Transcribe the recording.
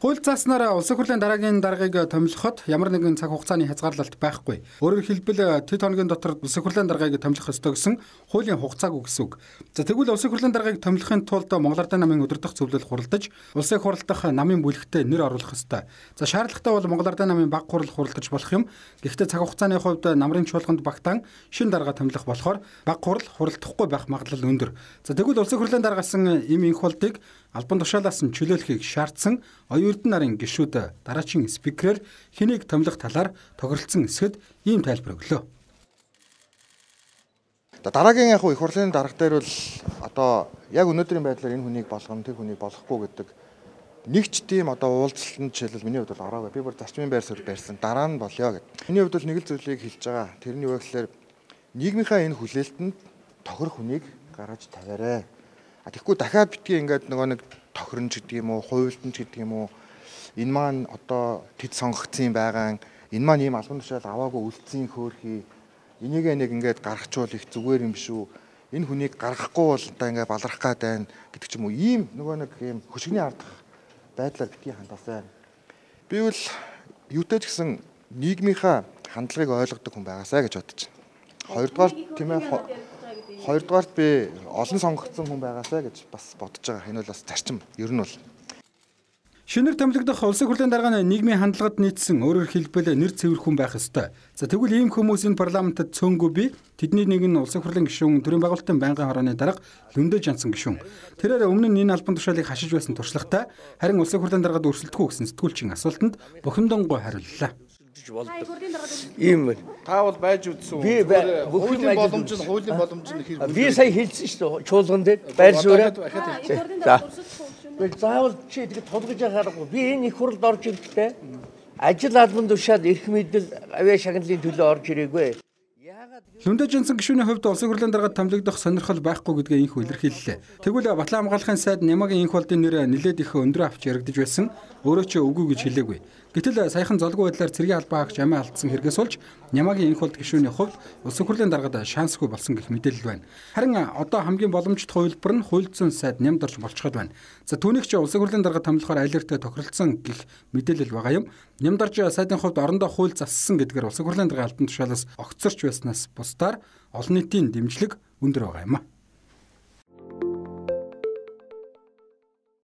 Хууль зааснаар улсын хурлын дараагийн даргаыг томилоход ямар нэгэн цаг хугацааны хязгаарлалт байхгүй. Өөрөөр хэлбэл тэд хоногийн дотор улсын хурлын даргаыг томилох ёстой гэсэн хуулийн хугацааг гэсэн үг. За тэгвэл улсын хурлын даргаыг томилохын тулд Монгол Ардын намын удирдах зөвлөл хуралдаж, улсын хурал дахь намын бүлэгтээ нэр оруулах ёстой. За шаардлагатай бол Монгол Ардын намын баг хурал хуралдаж болох юм. Гэхдээ цаг хугацааны хувьд намрын чуулганд багтаан шин дарга томилох болохоор баг хурал хуралдахгүй байх магадлал өндөр. За тэгвэл улсын хурлын даргасан им инх болдыг албан тушаалаас нь чөлөөлөхийг шаардсан оюун эрдэнэ нарын гишүүд дараачийн спикерээр хэнийг томилох талаар тохиролцсон эсэд ийм тайлбар өглөө. Дараагийн их хурлын дарга дээр бол одоо яг өнөөдрийн байдлаар энэ хүнийг болгоно, тэр хүнийг болохгүй гэдэг нэг ч тийм одоо уулзалтанд жишээлбэл миний хувьд бол ороогүй. Би бүр зарчмын байр суурь барьсан. Дараа нь болёо гэдэг. Миний хувьд бол нэг л зүйлийг хэлж байгаа. Тэрний юу гэхээр нийгмийнхаа энэ хүлээлтэнд тохирох хүнийг гаргаж тавиарай. Тэгэхгүй дахиад битгий ингээд нөгөө нэг тохиронч гэдэг юм уу, хуйлтанч гэдэг юм уу, энэ маань одоо тэд сонгогдсон байгаа, энэ маань ийм албан тушаал аваагүй үлдсэн хөөрхий, энийг нэг ингээд гаргачвал их зүгээр юм биш үү? Энэ хүнийг гаргахгүй бол одоо ингээд баларах гад байна гэдэг ч юм уу, ийм нөгөө нэг ийм хөшгөний ардах байдлаар битгий хандасаа. Би бол юутай ч гэсэн нийгмийнхаа хандлагыг ойлгодог хүн байгаасаа гэж бодож байна. Хоёрдугаар тийм ээ. Хоёрдугаарт би олон сонгогдсон хүн байгаасаа гэж бас бодож байгаа. Энэ бол бас зарчим. Ер нь бол шинээр томилогдох улсын хурлын дарга нь нийгмийн хандлагад нийцсэн, өөрөөр хэлбэл нэр цэвэр хүн байх ёстой. За тэгвэл ийм хүмүүс энэ парламентод цөөнгүй би тэдний нэг нь улсын хурлын гишүүн, төрийн байгуулалтын байнгын хорооны дарга Лүндэ Жансан гишүүн. Тэрээр өмнө нь энэ албан тушаалыг хашиж байсан туршлагатай, харин улсын хурлын даргад өрсөлдөхгүй гэсэн сэтгүүлчийн асуултанд бухимдонгой хариуллаа. Ийм та бол байж үзсэн. Би хуулийн боломж нь хэрэг. Би сая хэлсэн шүү дээ. Чуулган дээр байр суурь. За. Би заавал чи тэгээд тулгаж яхаарахгүй. Би энэ их хурлд орж ирэхдээ ажил албан тушаал эрх мэдэл авиа шагналын төлөө орж ирээгүй. Лүндэ Жансан гишүүний хувьд улсын хурлын даргад томилогдох сонирхол байхгүй гэдгээ инх илэрхийллээ. Тэгвэл Батлан хамгаалахын сайд Нямагийн инх болдын нэр нэлээд их өндөр авч яригдж байсан. Өөрөө ч үгүй гэж хэлээгүй. Гэтэл саяхан золгүй байдлаар цэргийн албаа хаагч амиа алдсан хэрэгээс болж Нямагийн инх болд гишүүний хувьд улсын хурлын даргад шансгүй болсон гэх мэдээлэл байна. Харин одоо хамгийн боломжтой хувилбар нь хуульдсан сайд Нямд орж болчиход байна. За түүнийг ч улсын хурлын даргад томилохоор айлертэй тохиролцсон гэх мэдээлэл байгаа юм. Нямд орж сайдын хувьд орондоо хууль зассан гэдгээр улсын хурлын даргын албан тушаалаас огцорч байснаас бусдаар олон нийтийн дэмжлэг өндөр байгаа юм а.